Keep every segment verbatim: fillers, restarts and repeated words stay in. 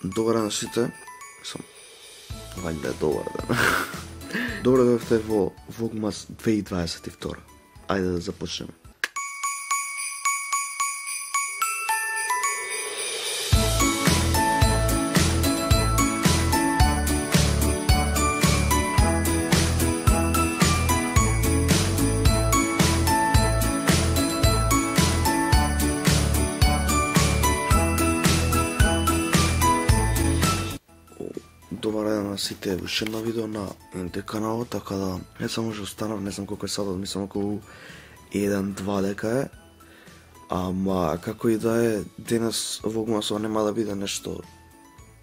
Добар ден на сите. Сам вајде е добар ден. Добро дојдовте во Vlogmas две илјади дваесет и втора. Ајде да започнеме. Добар ден на сите, уште едно видео на ен те каналот, така да не само уште останав, не знам колку е садот, мислам околу еден-два дека е. Ама како и да е, денес Vlogmasова нема да биде нешто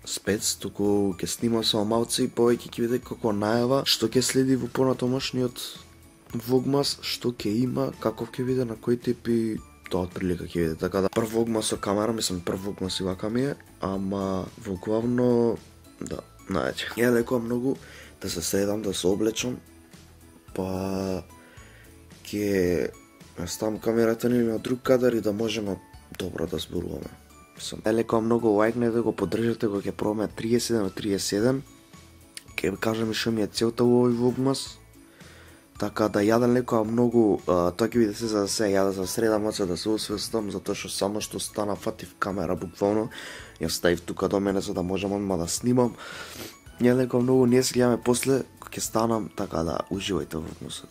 спец, туку ќе снимам само малце и повеќе ќе биде како најава што ќе следи во понатомошниот Vlogmas, што ќе има, каков ќе биде, на кој тип и тоа отприлика ќе биде. Така да прв Vlogmas со камера, мислам прв Vlogmas и вака ми е, ама во главно да, најаќе. Ја лекувам многу да се седам, да се облечам, па ќе ставам камерата ни на друг кадар и да можеме добро да зборуваме. Ја лекувам многу лајкнете да го поддржате кога ќе пробаме триесет и седум од триесет и седум. Ќе кажам и што ми е целта во овој Vlogmas. Така да ја да лекувам многу, а, тоа ќе биде се за да се ја да се средам оце да се освестам, затоа што само што стана фатив камера буквално, ја ставив тука до мене за да можам одма да снимам. Ја лекувам многу, ние се гледаме после кога ќе станам, така да уживајте во Vlogmasот.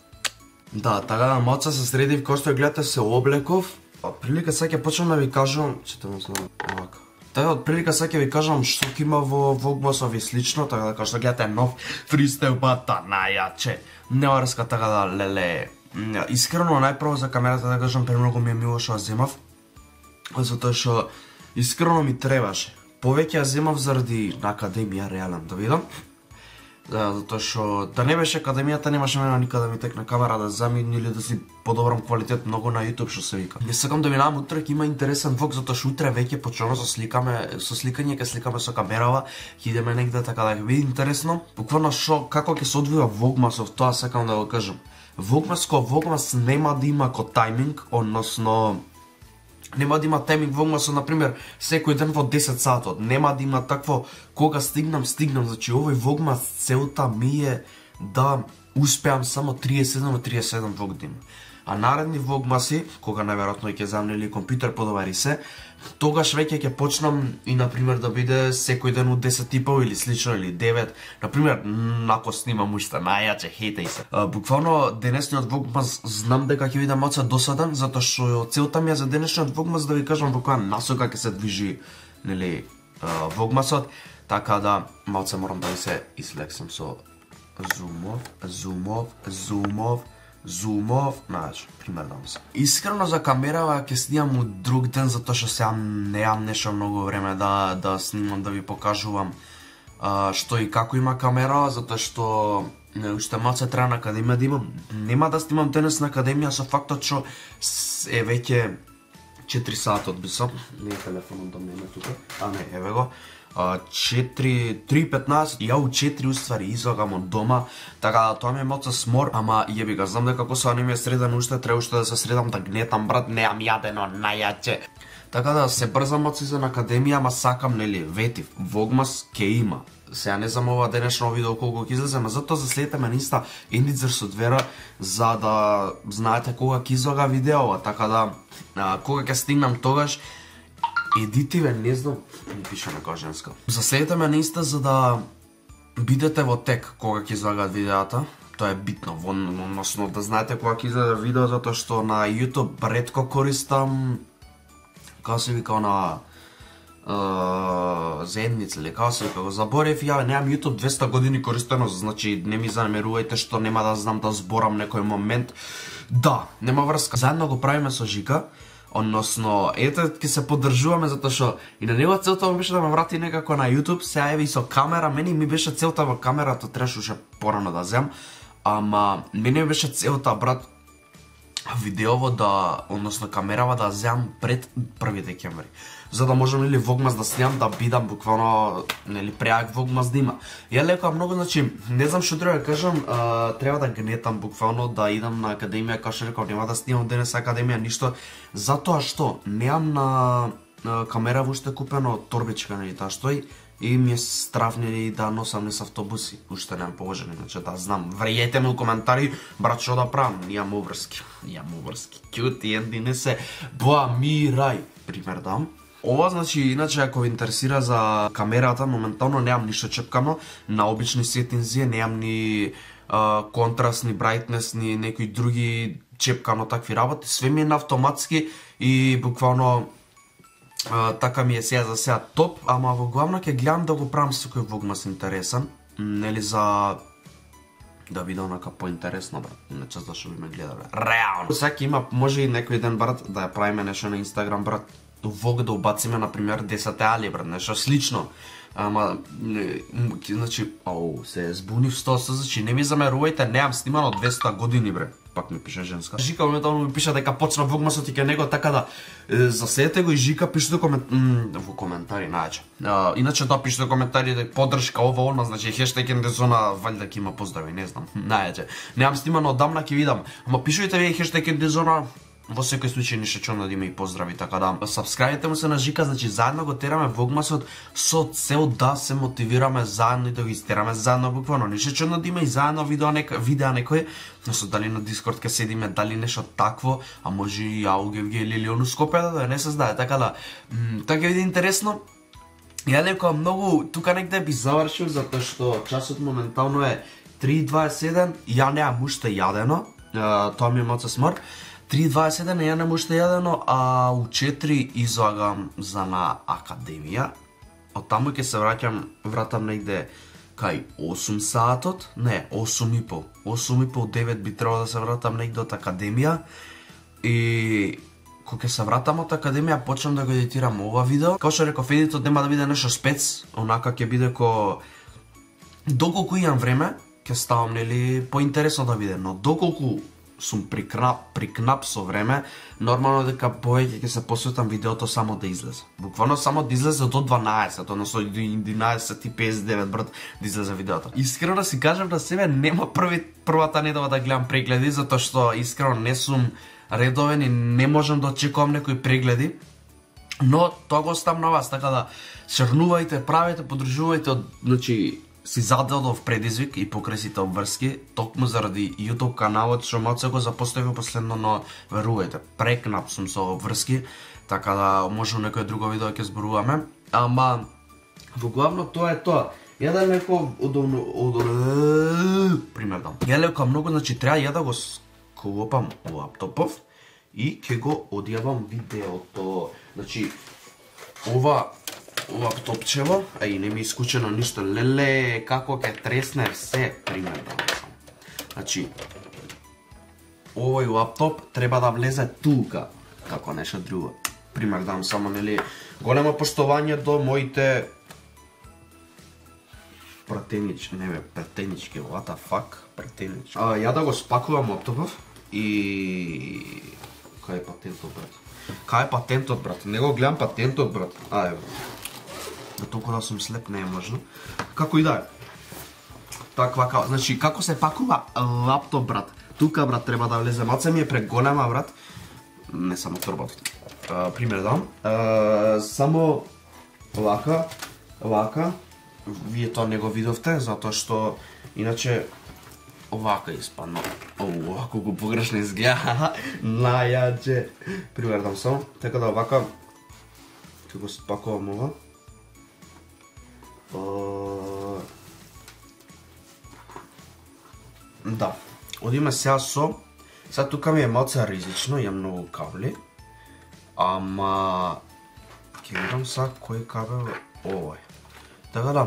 Да, така да малце се средив, кој што гледате се облеков. Прилика сега ќе почнам да ви кажам, читам се овака. Така од прилика сега ќе ви кажам што ќе има во Vlogmasов и слично, така да кога што гледате нов фристайл бата најаче. Неварска, така да леле. Искрено најпрво за камерата да кажам премногу ми е мило што ја земав. Затоа што искрено ми требаше. Повеќе ја земав заради на академија реален да видам. Да, затоа што да не беше академијата немаше мене никаде да ми текне камера да замени или да си подобрам квалитет многу на YouTube што се вика. Не сакам да минавам утре, ќе има интересен влог затоа што утре веќе почнуваме со сликаме, со сликање ќе сликаме со камерава, ќе идеме негде така да ќе биде интересно. Буквално што како ќе се одвива Vlogmasов, тоа сакам да го кажам. Vlogmas ко Vlogmas нема да има ко тајминг, односно нема да има тајминг Vlogmasот, например, секој ден во десет сатот. Нема да има такво кога стигнам, стигнам. Значи, овој Vlogmas целта ми е да успеам само триесет и седум од триесет и седум влог да има. А наредни Vlogmaси, кога најверојатно ќе замне или компјутер подобари се, тогаш веќе ќе почнам и, например, да биде секој ден од десет и пол или слично, или девет. Например, ако снимам уште најаче, хейтај се. А, буквално, денесниот Vlogmas знам дека ќе биде малце досаден, затоа што целта ми е за денешниот Vlogmas да ви кажам во која насока ќе се движи, нели, Vlogmasот. Така да, малце морам да ви се излексам со зумов, зумов, зумов, зумов, знаеш, примерно се. Искрено за камерава ќе снимам од друг ден, затоа што сега неам нешто многу време да да снимам, да ви покажувам а, што и како има камера, затоа што не, уште малце треба на академија да имам. Нема да снимам денес на академија со фактот што е веќе четири сатот бисам. Не е телефонот да мене тука. А не, еве го. четири, три и петнаесет, ја у четири уствари излагам од дома, така да тоа ми е малце смор, ама јеби ga, знам дека коса не ми е среден уште, треба уште да се средам да гнетам, брат, неам јадено, најаче. Така да се брзам малце за на академија, ама сакам, нели, ветив, Vlogmas ке има. Сега не знам ова денешно видео колку ќе излезе, ама затоа заследете ме на Инста Ендицер со двера, за да знаете кога ќе излага видеова, така да а, кога ќе стигнам тогаш, едитиве, не знам, ми пише на женска. Заследете ме на Инста за да бидете во тек кога ќе излагаат видеата. Тоа е битно, односно да знаете кога ќе излезе видео, затоа што на YouTube ретко користам, како се вика на uh, заедница или како се вика, го заборев, ја немам YouTube двесте години користено, значи не ми замерувајте што нема да знам да зборам некој момент. Да, нема врска. Заедно го правиме со Жика. Односно, ете ќе се поддржуваме затоа што и на него целта ми беше да ме врати некако на YouTube, сега еве и со камера, мене ми беше целта во камерата, требаше уште порано да земам, ама мене ми беше целта, брат, видеово да, односно камерава да земам пред први декември. За да можам или Vlogmas да снимам, да бидам буквално, нели, преак Vlogmas да има. Ја лекувам многу, значи, не знам што треба да кажам, а, треба да гнетам буквално, да идам на академија, како што реков, нема да снимам денес академија, ништо, затоа што немам на камера уште купено од торбичка, нели таа стои, и ми е страв нели да носам низ автобуси, уште немам положено, иначе да знам. Вриете ме у коментари, брат, што да правам, јам обврски, јам обврски, кјути, енди не се бламирај, пример дам. Ова, значи, иначе, ако ви интересира за камерата, моментално немам ништо чепкано, на обични сеттинзи, немам ни а, контраст, ни брайтнес, ни некои други чепкано такви работи, све ми е на автоматски и буквално а, така ми е сега за сега топ, ама во главно ќе гледам да го правам со кој вогмас интересен, нели за да биде онака поинтересно, брат, иначе зашо би ме гледале. Реално! Сега има, може и некој ден, брат, да ја правиме нешто на Инстаграм, брат, вог да убациме, например, десет али, брат, нешто слично. Ама, не, значи, ау, се збунив сто, значи, не ми замерувајте, немам снимано двесте години, бре. Пак ми пише женска. Жика моментално ми пише дека почна вогмасот и ке него, така да е, заседете го и Жика пишете комент... во коментари, најаче. А, иначе да пишете коментари да поддршка ова она, значи хештег ендезона, валјда ќе има поздрави, не знам, најаче. Немам снимано одамна, ќе видам. Ама пишете ви хештег ендезона, во секој случај ништо чудно да има и поздрави, така да сабскрајбите му се на Жика, значи заедно го тераме вогмасот со цел да се мотивираме заедно и да го истераме заедно буквално. Ништо чудно да има и заедно видео нека видеа некој, но со дали на Дискорд ке седиме, дали нешто такво, а може и АУГВГ или ону Скопје да не се знае, така да така ќе биде интересно. Ја леко многу тука негде би завршил затоа што часот моментално е три дваесет и седум, ја немам уште јадено, тоа ми е моца смор. три дваесет и седум ја немам уште јадено, а у четири излагам за на академија. Од таму ќе се враќам, вратам негде кај осум саатот, не, осум и пол. осум и пол девет би требало да се вратам негде од академија. И кога ќе се вратам од академија, почнам да го едитирам ова видео. Како што реков, едитот нема да биде нешто спец, онака ќе биде ко доколку имам време, ќе ставам нели поинтересно да биде, но доколку сум прикнап, прикнап со време, нормално дека повеќе ќе се посветам видеото само да излезе. Буквално само да излезе до дванаесет, односно до единаесет и песет и девет, брат, да излезе видеото. Искрено да си кажам на себе, нема први, првата недела да гледам прегледи, затоа што искрено не сум редовен и не можам да очекувам некои прегледи. Но тоа го оставам на вас, така да шернувајте, правете, подржувајте, од, значи, си зададов предизвик и покрај сите обврски, токму заради YouTube каналот што малце го запоставив последно, но верувајте, прекнап сум со обврски, така да може некој друго видео ќе зборуваме, ама во главно тоа е тоа. Ја да леко удобно, удобно, пример дам. Ја леко многу, значи треба ја да го склопам лаптопов и ќе го одјавам видеото. Значи ова лаптопчево, а и не ми искучено ништо, леле, како ќе тресне все, пример да сам. Значи, овој лаптоп треба да влезе тука, како нешто друго. Пример дам само, нели, големо поштовање до моите пратенички, не бе, пратенички, what the fuck, пратенички. А, ја да го спакувам лаптопов и... Кај е патентот, брат? Кај е патентот, брат? Не го гледам патентот, брат. А, е, да толку да сум слеп не е можно. Како и да е. Таква како, значи како се пакува лаптоп, брат? Тука, брат, треба да влезе. Маца ми е преголема, брат. Не само торбата. Uh, пример дам. Uh, само вака, вака. Вие тоа не го видовте, затоа што иначе овака испадно. Оу, овако го погрешно изгледа. Најаџе. Пример дам само. Така да овака ќе го спакувам ова. Uh... Да. Одиме сега со... Сега тука ми е малце ризично, имам многу кабли. Ама... Ќе видам сега кој кабел е овој. Така да,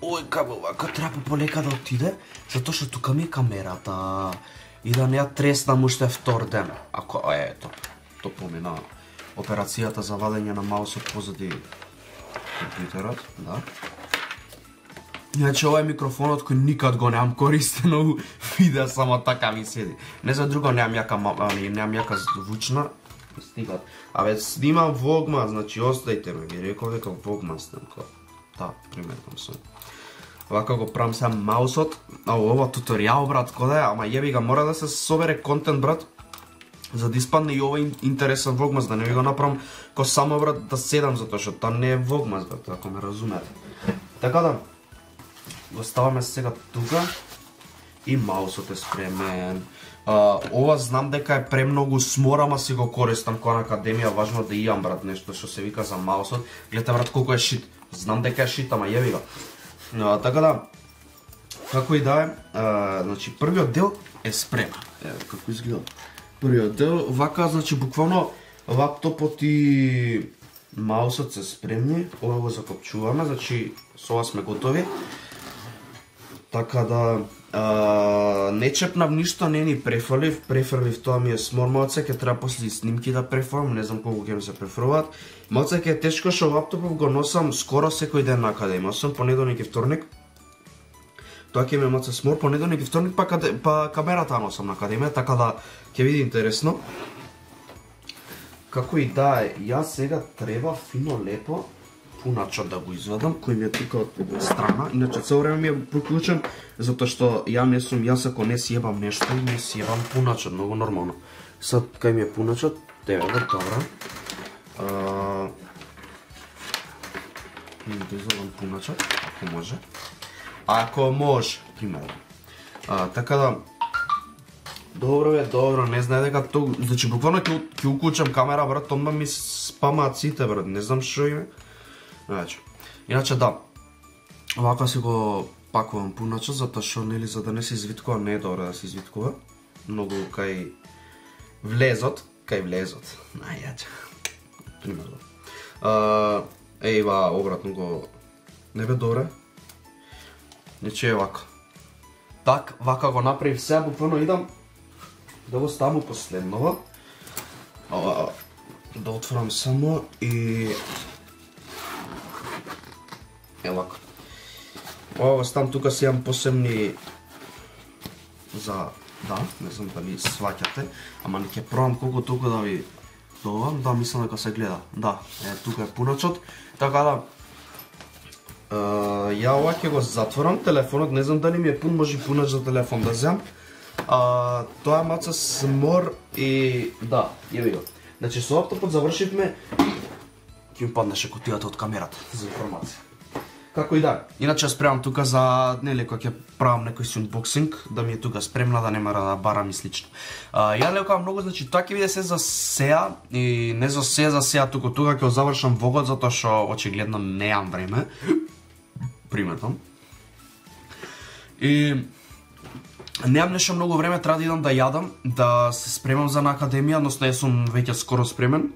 овој кабел вака треба полека да отиде, затоа што тука ми е камерата. И да не ја треснам уште втор ден. Ако, ето, то помина операцијата за вадење на маусот позади компјутерот, да. Иначе ова е микрофонот кој никад го немам користено, видео само така ми седи. Не за друго немам јака, немам јака звучна. Стигат. Абе, снимам вогма, значи остајте ме, ви реков дека вогма снимка. Да, приметам сум. Вака го правам сам маусот. А ова туторијал, брат, кода е, ама јеби га, мора да се собере контент, брат. за да испадне и овој интересен влогмас, да не ви го направам ко само брат да седам, затоа што тоа не е влогмас, брат, ако ме разумете. Така да, го ставаме сега тука и маусот е спремен. Uh, ова знам дека е премногу смор, ама си го користам кога на академија, важно да имам брат нешто што се вика за маусот. Гледате брат колку е шит. Знам дека е шит, ама јеби го. Uh, така да, како и да е, uh, значи првиот дел е спремен. Ево како изгледа. Првиот дел, вака, значи буквално лаптопот и маусот се спремни. Ова го закопчуваме, значи со ова сме готови. Така да, а, не чепнав ништо, не ни префрлив, префрлив тоа ми е смор малце, ќе треба после снимки да префрлам, не знам колку ќе ми се префрлуваат. Малце ќе е тешко што лаптопов го носам скоро секој ден на академија, освен понеделник и вторник. Тоа ќе ми е малце смор, понеделник и вторник па, каде, па камерата носам на академија, така да ќе види интересно. Како и да е, јас сега треба фино лепо пуначот да го извадам, кој ми е тука од страна. Иначе цело време ми е приклучен, затоа што ја не сум, јас ако не си ебам нешто и не си ебам пуначот, многу нормално. Сад кај ми е пуначот, тебе вр, добра. А... Да извадам пуначот, ако може. Ако може, примерно. А, така да, добро е, добро, не знае дека тоа, значи буквално ќе ќе уклучам камера, брат, одма ми спамаат сите, брат, не знам што име. Значи, иначе да, овака си го пакувам пуначот, затоа што нели за да не се извиткува, не е добро да се извиткува. Многу кај влезот, кај влезот. Најаѓа. Примерно. А, ејва, обратно го не бе добре. Нече е вака. Так, вака го направив сега, буквално идам да го ставам последново. Ова, да отворам само и... Е вака. Ова го ставам тука, си имам посебни за... Да, не знам дали сваќате, ама не ќе пробам колку толку да ви довам, да, мислам дека се гледа. Да, е, тука е пуначот, така да... Uh, ја ова ќе го затворам телефонот, не знам дали ми е пун, може пунач за телефон да земам. Uh, тоа е маца смор и... Да, јеби го. Значи со лаптопот завршивме, ќе ми паднеше кутијата од камерата за информација. Како и да, иначе спремам тука за, нели, кога ќе правам некој си унбоксинг, да ми е тука спремна, да не мора да барам и слично. Uh, ја лекувам многу, значи тоа ќе биде се за сеа и не за се за сеа, туку тука ќе завршам влогот, затоа што очигледно неам време. Приметам. И немам нешто многу време, треба да идам да јадам, да се спремам за на академија, односно јас сум веќе скоро спремен.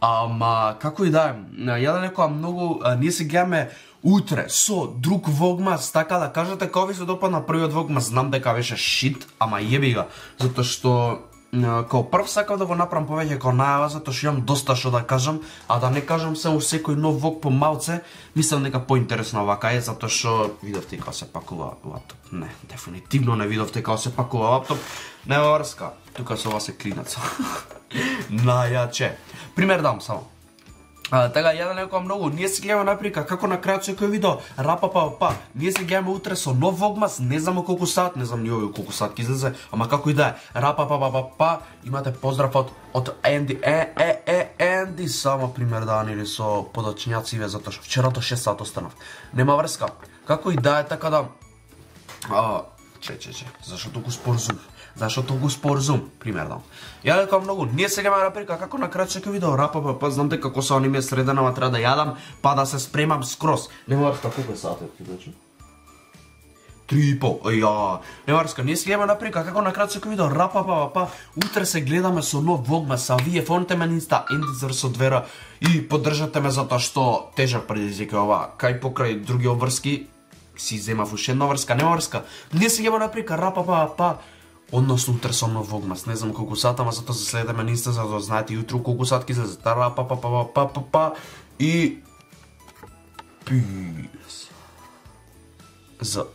Ама како и да е, ја да лекувам многу, ние се гледаме утре со друг влогмас, така да кажете кога ви се допадна првиот влогмас, знам дека беше шит, ама јеби га, затоа што као прв сакав да го направам повеќе као најава, затоа што имам доста што да кажам, а да не кажам само секој нов влог по малце, мислам дека поинтересно вака е, затоа што видовте како се пакува лаптоп. Не, дефинитивно не видовте како се пакува лаптоп. Нема врска, тука со ова се клинаца. Најаче. Пример дам само. А, така, ја да некоја многу, ние се гледаме наприка како на крајот секој видео, рапа па па, ние се гледаме утре со нов влогмас, не знам колку сат, не знам ни овој колку сат ќе излезе, ама како и да е, рапа па па па па, имате поздрав од од Енди, е е е Енди, само пример дани или со подочњациве, затоа што вчера до шест сат останав. Нема врска. Како и да е, така да, а, че че че, зашто толку спорзум? Зашто толку спорзум, пример дам. Ја лекувам многу, ние сега ме наприка како на крајот секој видео, рапа па па, знам дека коса ни ми е средена, ама треба да јадам, па да се спремам скроз. Нема врска, колку е сатот, ти значи? Три и пол, ја. Нема врска, ние сега ме наприка како на крајот секој видео, рапа па па, утре се гледаме со нов влогмас, а вие фоните ме на инста, Ендизер со двера и поддржате ме затоа што тежак предизвик е ова, кај покрај други обврски си земав уште една врска, нема врска. Ние сега ме наприка рапа па па. Односно утре со нов влогмас, не знам колку сат, ама затоа се следеме на инста за да знаете јутро колку сат ќе се затара па па па па па па па и пис за